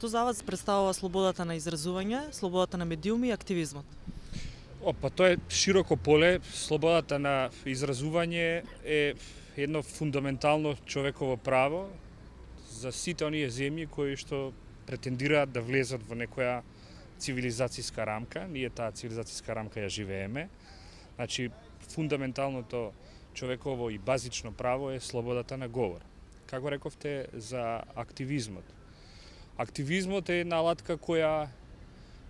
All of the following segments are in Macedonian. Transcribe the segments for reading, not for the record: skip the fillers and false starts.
Што за вас представува слободата на изразување, слободата на медиуми и активизмот? Тоа е широко поле. Слободата на изразување е едно фундаментално човеково право за сите оние земји кои што претендираат да влезат во некоја цивилизацијска рамка. Ние таа цивилизацијска рамка ја живееме. Значи, фундаменталното човеково и базично право е слободата на говор. Како рековте за активизмот? Активизмот е една алатка која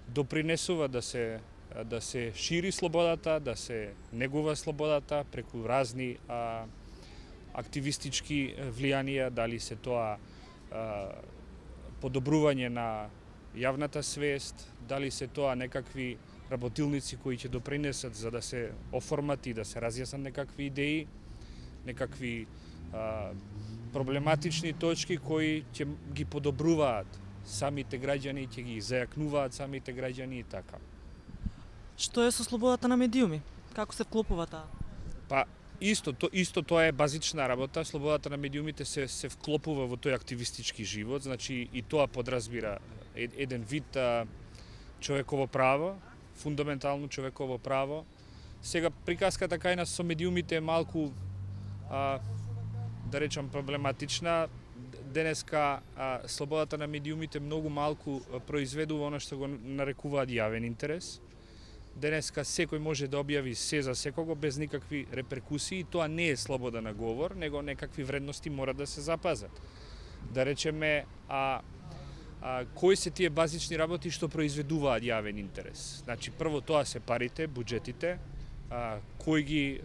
допринесува да се шири слободата, да се негува слободата преку разни активистички влијанија, дали се тоа подобрување на јавната свест, дали се тоа некакви работилници кои ќе допринесат за да се оформат и да се разјаснат некакви идеи, некакви проблематични точки кои ќе ги подобруваат самите граѓани, ќе ги зајакнуваат самите граѓани и така. Што е со слободата на медиуми? Како се вклопува таа? Исто тоа е базична работа. Слободата на медиумите се вклопува во тој активистички живот, значи и тоа подразбира еден вид човеково право, фундаментално човеково право. Сега приказката кај нас со медиумите е малку да речам проблематична. Денеска слободата на медиумите многу малку произведува она што го нарекуваат јавен интерес. Денеска секој може да објави се за секого без никакви реперкусии. Тоа не е слобода на говор, него некакви вредности мора да се запазат. Да речеме, кои се тие базични работи што произведуваат јавен интерес? Значи, прво тоа се парите, буџетите, кој ги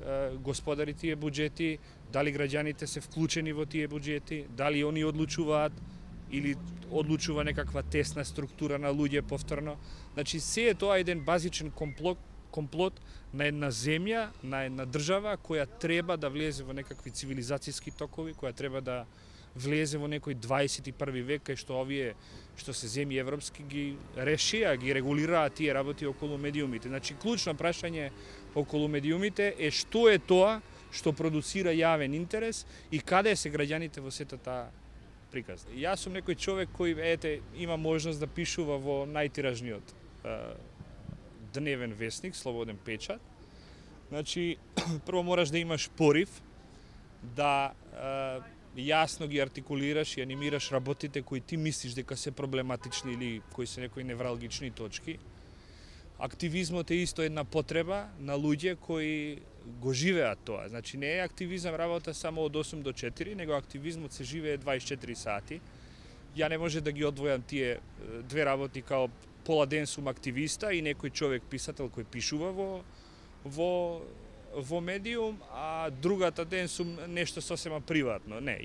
господари тие буџети, дали граѓаните се вклучени во тие буџети, дали они одлучуваат или одлучува некаква тесна структура на луѓе повторно. Значи, се е тоа еден базичен комплот на една земја, на една држава која треба да влезе во некакви цивилизацијски токови, која треба да влезе во некој 21 век, кај што овие што се земји европски ги решија, ги регулираат тие работи околу медиумите. Значи, клучно прашање околу медиумите е што е тоа што продуцира јавен интерес и каде се граѓаните во сета таа приказна. Јас сум некој човек кој има можност да пишува во најтиражниот дневен весник, Слободен печат. Значи, прво мораш да имаш порив, да јасно ги артикулираш и анимираш работите кои ти мислиш дека се проблематични или кои се некои невралгични точки. Активизмот е исто една потреба на луѓе кои го живеат тоа. Значи, не е активизам работа само од 8 до 4, него активизмот се живее 24 сати. Ја не може да ги одвојам тие две работи као пола ден сум активиста и некој човек писател кој пишува во медиум, а другата ден сум нешто сосема приватно. Не,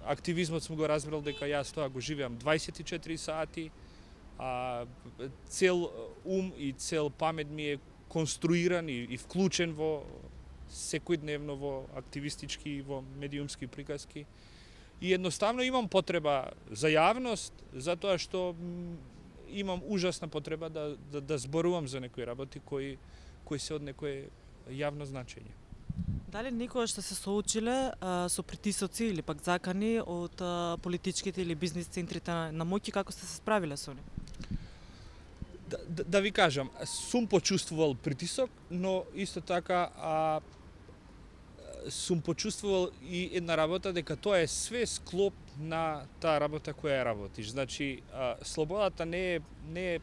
активизмот сум го разбрал дека јас тоа го живеам 24 сати, цел ум и цел памет ми е конструиран и вклучен во секојдневно во активистички и во медиумски приказки. И едноставно имам потреба за јавност, затоа што имам ужасна потреба да зборувам за некои работи кои се од некое јавно значење. Дали никогаш сте се соочиле со притисоци или пак закани од политичките или бизнис центрите на моќ и како сте се справиле со нив? Да ви кажам, сум почувствувал притисок, но исто така сум почувствувал и една работа дека тоа е све склоп на таа работа која ја работиш. Значи, слободата не е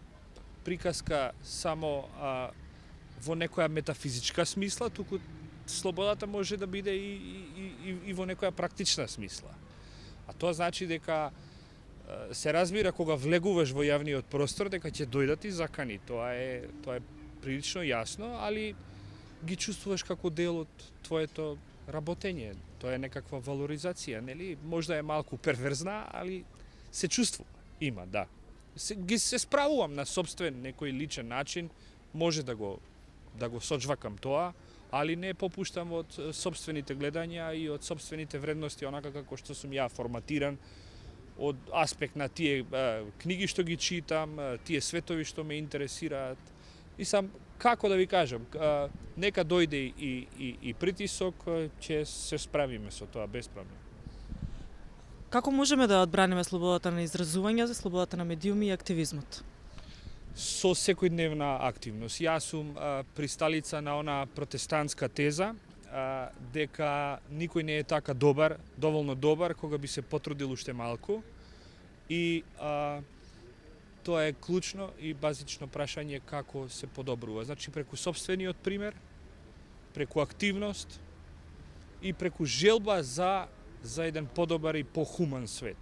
приказка само во некоја метафизичка смисла, туку слободата може да биде и во некоја практична смисла. А тоа значи дека се разбира кога влегуваш во јавниот простор дека ќе дојдат и закани. Тоа е прилично јасно, али ги чувствуваш како дел од твоето работење. Тоа е некаква валоризација, нели? Можда е малку перверзна, али се чувствува. Има, да. Се справувам на сопствен некој личен начин, може да го сочвакам тоа, али не попуштам од сопствените гледања и од сопствените вредности, онака како што сум ја форматиран, од аспект на тие книги што ги читам, тие светови што ме интересираат. И сам, како да ви кажам, нека дојде и притисок, ќе се справиме со тоа без проблем. Како можеме да одбраниме слободата на изразување, слободата на медиуми и активизмот? Со секојдневна активност. Јас сум присталица на она протестантска теза дека никој не е така добар, доволно добар, кога би се потрудил уште малку. И тоа е клучно и базично прашање како се подобрува. Значи преку сопствениот пример, преку активност и преку желба за еден подобар и похуман свет.